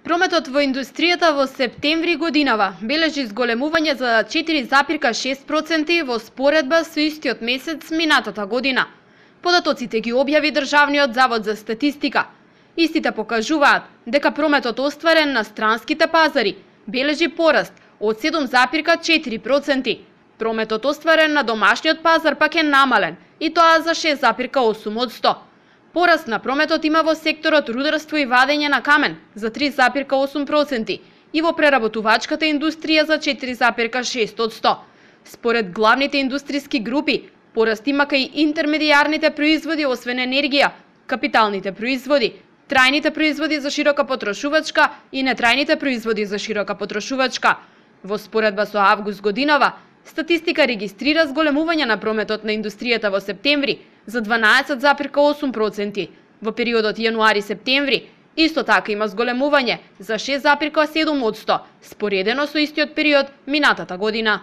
Прометот во индустријата во септември годинава бележи зголемување за 4,6% во споредба со истиот месец минатата година. Податоците ги објави Државниот завод за статистика. Истите покажуваат дека прометот остварен на странските пазари бележи пораст од 7,4%. Прометот остварен на домашниот пазар пак е намален, и тоа за 6,8%. Пораст на прометот има во секторот рударство и вадење на камен за 3,8% и во преработувачката индустрија за 4,6%. Според главните индустријски групи, пораст има кај интермедијарните производи освен енергија, капиталните производи, трајните производи за широка потрошувачка и нетрајните производи за широка потрошувачка. Во споредба со август годинава, статистика регистрира зголемување на прометот на индустријата во септември за 12,8%. Во периодот јануари-септември исто така има зголемување за 6,7%, споредено со истиот период минатата година.